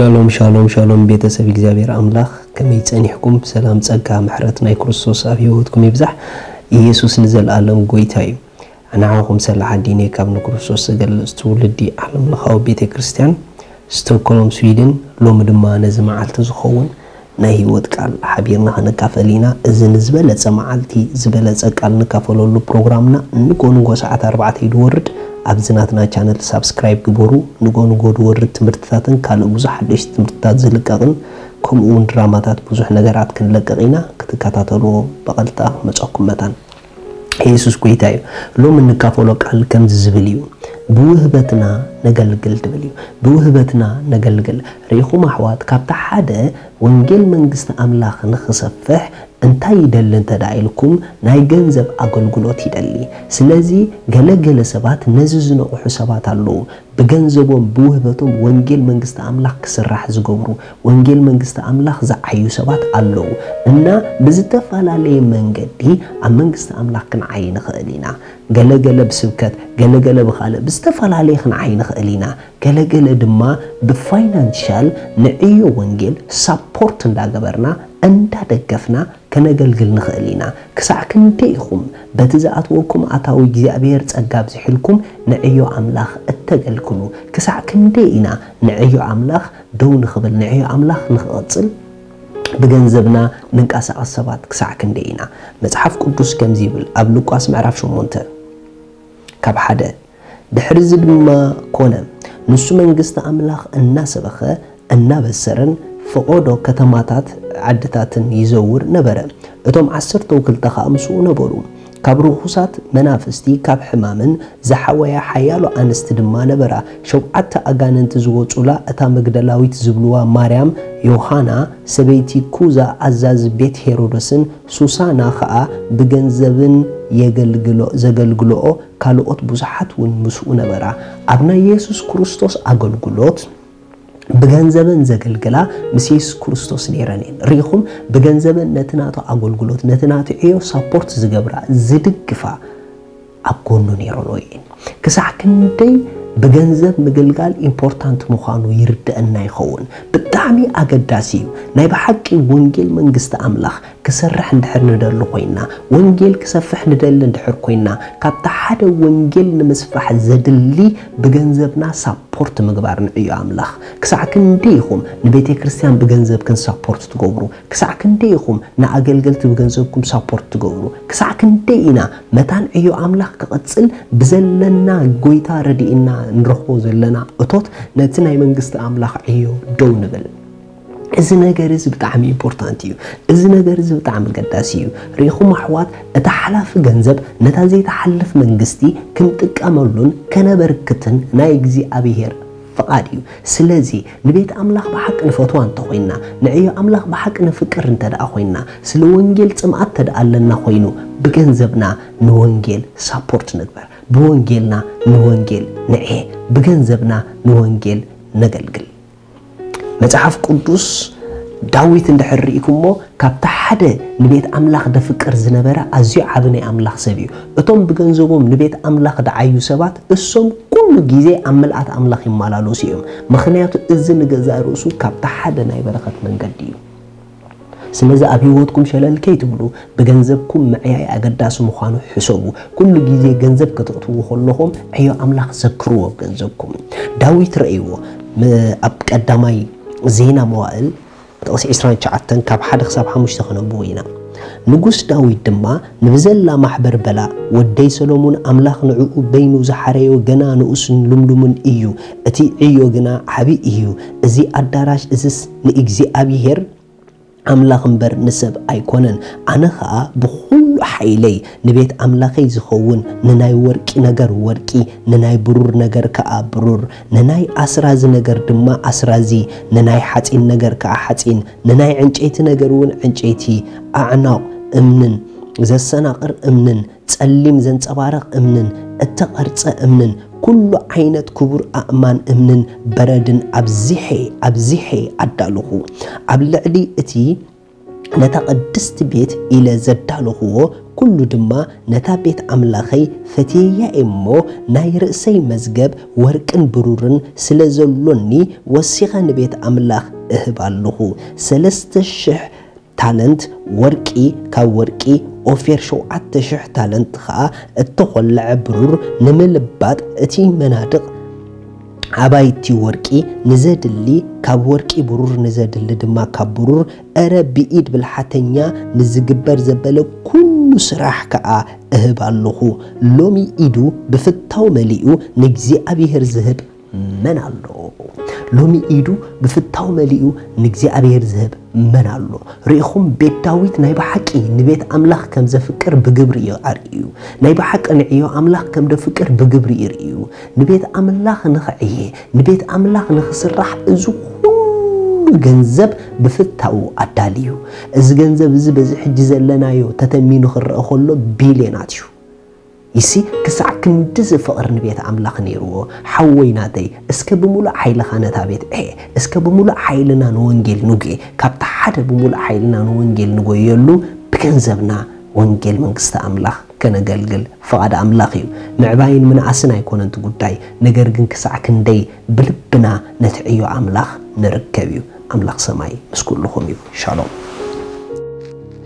ሻሎም ሻሎም ሻሎም፣ ቤተሰብ እግዚኣብሔር ኣምላኽ፣ ከመይ ጸኒሕኩም? ሰላም፣ ጸጋ፣ ምሕረት ናይ ክርስቶስ ኣብ ህይወትኩም ይብዛሕ። ኢየሱስ ንዘለኣለም ጎይታ እዩ። ንዓኹም ሰላሕ ኣዲነ ካብ ንክርስቶስ ዝገልጽ ትውልዲ ዓለም ለኻዊ ቤተ ክርስቲያን ስቶክሆልም ስዊድን። ሎሚ ድማ ነዚ መዓልቲ ዝኸውን ናይ ህይወት ቃል ሓቢርና ክንካፈል ኢና። እዚ ንዝበለጸ መዓልቲ ዝበለጸ ቃል ንካፈለሉ ፕሮግራምና ንጎ ንጎ ሰዓት ኣርባዕተ እዩ ዝወርድ። ኣብዚ ናትና ቻነል ሳብስክራይብ ግበሩ። ንጎ ንጎ ዝወርድ ትምህርትታትን ካልእ ብዙሕ ሓደሽቲ ትምህርትታት ዝልቀቕን ከምኡ እውን ድራማታት ብዙሕ ነገራት ክንለቅቕ ኢና። ክትከታተልዎ ብቐጥታ ክመፀኩም መታን። ኢየሱስ ጎይታ እዩ። ሎሚ እንካፈሎ ቃል ከምዚ ዝብል እዩ፣ ብውህበትና ነገልግል ትብል እዩ። ብውህበትና ነገልግል። ርኢኹም ኣሕዋት፣ ካብታ ሓደ ወንጌል መንግስቲ ኣምላኽ ንኽሰፍሕ እንታይ ይደሊ እንተ ደኣ ኢልኩም፣ ናይ ገንዘብ ኣገልግሎት ይደሊ። ስለዚ ገለ ገለ ሰባት ነዚ ዝነቕሑ ሰባት ኣለዉ። ብገንዘቦም ብውህበቶም ወንጌል መንግስቲ ኣምላኽ ክስራሕ ዝገብሩ፣ ወንጌል መንግስቲ ኣምላኽ ዝዓዩ ሰባት ኣለዉ። እና ብዝተፈላለየ መንገዲ ኣብ መንግስቲ ኣምላኽ ክንዓይ ንኽእል ኢና። ገለ ገለ ብስብከት፣ ገለ ገለ ብኻልእ ብዝተፈላለየ ክንዓይ ንኽእል ኢና። ገለ ገለ ድማ ብፋይናንሻል ንዕዮ ወንጌል ሳፖርት እንዳገበርና እንዳደገፍና ከነገልግል ንኽእል ኢና። ክሳዕ ክንደይ ኢኹም በቲ ዝኣትወኩም ኣታዊ እግዚኣብሔር ጸጋ ኣብዚሕልኩም ንዕዮ ኣምላኽ እተገልግሉ? ክሳዕ ክንደይ ኢና ንዕዮ ኣምላኽ ደው ንኽብል፣ ንዕዮ ኣምላኽ ንኽቕጽል ብገንዘብና ንንቀሳቐስ ሰባት ክሳዕ ክንደይ ኢና? መጽሓፍ ቅዱስ ከምዚ ይብል ኣብ ሉቃስ ምዕራፍ ሸሞንተ ካብ ሓደ፣ ድሕርዚ ድማ ኮነ፣ ንሱ መንግስቲ ኣምላኽ እናሰበኸ እናበሰረን ፈቐዶ ከተማታት ዓድታትን ይዘውር ነበረ። እቶም ዓሰርተው ክልተ ኸኣ ምስኡ ነበሩ። ካብ ርኹሳት መናፍስቲ፣ ካብ ሕማምን ዝሓወያ ሓያሎ ኣንስቲ ድማ ነበራ። ሸውዓተ ኣጋንንቲ ዝወጹላ እታ መግደላዊት ዝብልዋ ማርያም፣ ዮሃና፣ ሰበይቲ ኩዛ ኣዛዚ ቤት ሄሮድስን ሱሳና ኸኣ ብገንዘብን የገልግሎ-፣ ዘገልግልኦ ካልኦት ብዙሓት እውን ምስኡ ነበራ። ኣብ ናይ የሱስ ክርስቶስ ኣገልግሎት ብገንዘበን ዘገልግላ ምስ የሱስ ክርስቶስ ነይረን እየን። ርኢኹም፣ ብገንዘበን ነቲ ናቱ ኣገልግሎት፣ ነቲ ናቱ ዕዮ ሳፖርት ዝገብራ፣ ዝድግፋ፣ ኣብ ጎኑ ነይረን እየን። ክሳዕ ክንደይ ብገንዘብ ምግልጋል ኢምፖርታንት ምዃኑ ይርደአና ይኸውን። ብጣዕሚ ኣገዳሲ እዩ። ናይ ብሓቂ ወንጌል መንግስቲ ኣምላኽ ክሰርሕ እንድሕር ንደሊ ኮይና፣ ወንጌል ክሰፍሕ ንደሊ እንድሕር ኮይና፣ ካብቲ ሓደ ወንጌል ንምስፋሕ ዘድሊ ብገንዘብና ሳፖርት ምግባር ንዕዮ ኣምላኽ። ክሳዕ ክንደይ ኢኹም ንቤተ ክርስቲያን ብገንዘብክን ሳፖርት ትገብሩ? ክሳዕ ክንደይ ኢኹም ንኣገልገልቲ ብገንዘብኩም ሳፖርት ትገብሩ? ክሳዕ ክንደይ ኢና መታን ዕዮ ኣምላኽ ክቕጽል ብዘለና ጎይታ ረድኢና ንረኽቦ ዘለና እቶት ነቲ ናይ መንግስቲ ኣምላኽ ዕዮ ደው ንብል? እዚ ነገር እዚ ብጣዕሚ ኢምፖርታንት እዩ። እዚ ነገር እዚ ብጣዕሚ ኣገዳሲ እዩ። ርኢኹም ኣሕዋት፣ እቲ ሓላፊ ገንዘብ ነታ ዘይትሓልፍ መንግስቲ ክንጥቀመሉን ከነበርክትን ናይ እግዚኣብሔር ፍቓድ እዩ። ስለዚ ንቤት ኣምላኽ ብሓቂ ንፈትዋ እንተኾይንና፣ ንዕዮ ኣምላኽ ብሓቂ ንፍቅር እንተ ደኣ ኮይንና፣ ስለ ወንጌል ጽምኣት እንተ ደኣ ኣለና ኮይኑ፣ ብገንዘብና ንወንጌል ሳፖርት ንግበር። ብወንጌልና ንወንጌል ንዕየ። ብገንዘብና ንወንጌል ነገልግል። መጽሓፍ ቅዱስ ዳዊት እንድሕር ርኢኩሞ፣ ካብቲ ሓደ ንቤት ኣምላኽ ደፍቅር ዝነበረ ኣዝዩ ዓቢ ናይ ኣምላኽ ሰብ እዩ። እቶም ብገንዘቦም ንቤት ኣምላኽ ደዓዩ ሰባት፣ እሶም ኩሉ ግዜ ኣብ ምልኣት ኣምላኽ ይመላለሱ እዮም። ምኽንያቱ እዚ ንገዛእ ርእሱ ካብቲ ሓደ ናይ በረኸት መንገዲ እዩ። ስለዚ ኣብ ህይወትኩም ሸለል ከይትብሉ፣ ብገንዘብኩም ምዕያይ ኣገዳሲ ምዃኑ ሕሰቡ። ኩሉ ግዜ ገንዘብ ከተእትዉ ከለኹም ዕዮ ኣምላኽ ዘክርዎ ኣብ ገንዘብኩም። ዳዊት ረእይዎ፣ ም-፣ ኣብ ቀዳማይ ዜና መዋእል ጥቕሲ ዕስራን ትሽዓተን ካብ ሓደ ክሳብ ሓሙሽተ ከነንብቦ ኢና። ንጉስ ዳዊት ድማ ንብዘላ ማሕበር በላ፣ "ወደይ ሰሎሞን ኣምላኽ ንዕኡ በይኑ ዝሓረዮ ገና ንኡስን ልምሉምን እዩ፣ እቲ ዕዮ ግና ዓቢ እዩ። እዚ ኣዳራሽ እዝስ ንእግዚኣብሔር ኣምላኽ እምበር ንሰብ ኣይኮነን። ኣነ ኸኣ ብኹሉ ሓይለይ ንቤት ኣምላኸይ ዝኸውን ንናይ ወርቂ ነገር ወርቂ፣ ንናይ ብሩር ነገር ከኣ ብሩር፣ ንናይ ኣስራዚ ነገር ድማ ኣስራዚ፣ ንናይ ሓጺን ነገር ከኣ ሓጺን፣ ንናይ ዕንጨይቲ ነገር እውን ዕንጨይቲ፣ ኣዕናቕ እምንን ዘሰናቕር እምንን ጸሊም ዘንጸባርቕ እምንን እተቐርጸ እምንን ኩሉ ዓይነት ክቡር ኣእማን እምንን በረድን ኣብዚሐ፣ ኣብዚሐ ኣዳለኹ። ኣብ ልዕሊ እቲ ነታ ቅድስቲ ቤት ኢለ ዘዳለኹዎ ኩሉ ድማ ነታ ቤት ኣምላኸይ ፈትየያ እሞ ናይ ርእሰይ መዝገብ ወርቅን ብሩርን ስለ ዘሎኒ ወሲኸ ንቤት ኣምላኽ እህብ ኣለኹ። ሰለስተ ሽሕ ታለንት ወርቂ ካብ ወርቂ ኦፌር ሸውዓተ ሽሕ ታለንት ኸኣ እተኾልዐ ብሩር ንምልባጥ እቲ መናድቕ ኣባይቲ ወርቂ ንዘድሊ ካብ ወርቂ ብሩር ንዘድሊ ድማ ካብ ብሩር እረ ብኢድ ብልሓተኛ ንዝግበር ዘበለ ኩሉ ስራሕ ከኣ እህብ ኣለኹ። ሎሚ ኢዱ ብፍታው መሊኡ ንእግዚኣብሔር ዝህብ መን ኣሎ? ሎሚ ኢዱ ብፍታው መሊኡ ንእግዚኣብሔር ዝህብ መን ኣሎ? ርኢኹም ቤት ዳዊት ናይ ብሓቂ ንቤት ኣምላኽ ከም ዘፍቅር ብግብሪ እዩ ኣርእዩ። ናይ ብሓቂ ንዕዮ ኣምላኽ ከም ደፍቅር ብግብሪ እዩ ርእዩ። ንቤት ኣምላኽ ንኽዕየ ንቤት ኣምላኽ ንኽስራሕ እዚ ኩሉ ገንዘብ ብፍታኡ ኣዳልዩ። እዚ ገንዘብ እዚ በዚ ሕጂ ዘለናዮ ተተሚኑ ክረአ ከሎ ቢልዮናት እዩ። ይሲ ክሳዕ ክንድዚ ፍቕሪ ንቤት ኣምላኽ ነይርዎ። ሓወይ ናተይ እስከ ብምሉእ ሓይልኻ ነታ ቤት ዕየ። እስከ ብምሉእ ሓይልና ንወንጌል ንጉየ። ካብቲ ሓደ ብምሉእ ሓይልና ንወንጌል ንጎየሉ ብገንዘብና ወንጌል መንግስቲ ኣምላኽ ከነገልግል ፍቓድ ኣምላኽ እዩ። ምዕባይን ምንኣስን ኣይኮነን እቲ ጉዳይ፣ ነገር ግን ክሳዕ ክንደይ ብልብና ነቲ ዕዮ ኣምላኽ ንርከብ እዩ። ኣምላኽ ሰማይ ምስ ኩልኹም እዩ። ሻሎም።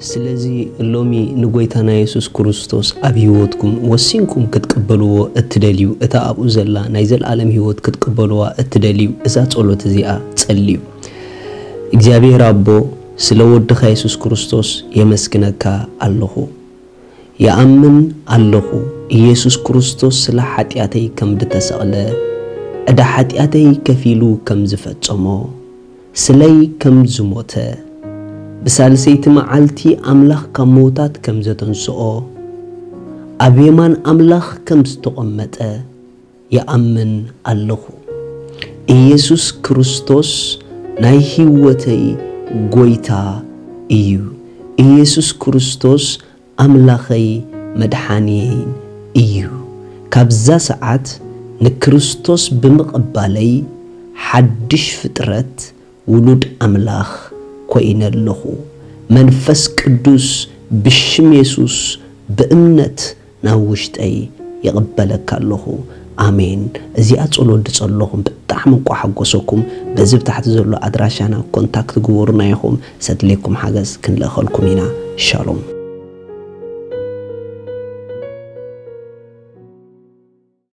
ስለዚ ሎሚ ንጎይታና የሱስ ክርስቶስ ኣብ ህይወትኩም ወሲንኩም ክትቅበልዎ እትደልዩ፣ እታ ኣብኡ ዘላ ናይ ዘለኣለም ህይወት ክትቅበልዋ እትደልዩ፣ እዛ ጸሎት እዚኣ ጸልዩ። እግዚኣብሔር ኣቦ፣ ስለ ወድኻ የሱስ ክርስቶስ የመስግነካ ኣለኹ። ይኣምን ኣለኹ፣ ኢየሱስ ክርስቶስ ስለ ሓጢኣተይ ከም ድተሰቕለ፣ ዕዳ ሓጢኣተይ ከፊሉ ከም ዝፈጸሞ፣ ስለይ ከም ዝሞተ፣ ብሳልሰይቲ መዓልቲ ኣምላኽ ካብ ምዉታት ከም ዘተንስኦ፣ ኣብ የማን ኣምላኽ ከም ዝተቐመጠ ይኣምን ኣለኹ። ኢየሱስ ክርስቶስ ናይ ህይወተይ ጎይታ እዩ። ኢየሱስ ክርስቶስ ኣምላኸይ መድሓንየይን እዩ። ካብዛ ሰዓት ንክርስቶስ ብምቕባለይ ሓድሽ ፍጥረት ውሉድ ኣምላኽ ኮይነ ኣለኹ። መንፈስ ቅዱስ ብሽም የሱስ ብእምነት ናብ ውሽጠይ ይቕበለካ ኣለኹ። ኣሜን። እዚኣ ጸሎት ዝጸለኹም ብጣዕሚ እኳ ሓጎሰኩም። በዚ ብታሕቲ ዘሎ ኣድራሻና ኮንታክት ግበሩና ኢኹም። ሰድሌኩም ሓገዝ ክንልእኸልኩም ኢና። ሻሎም።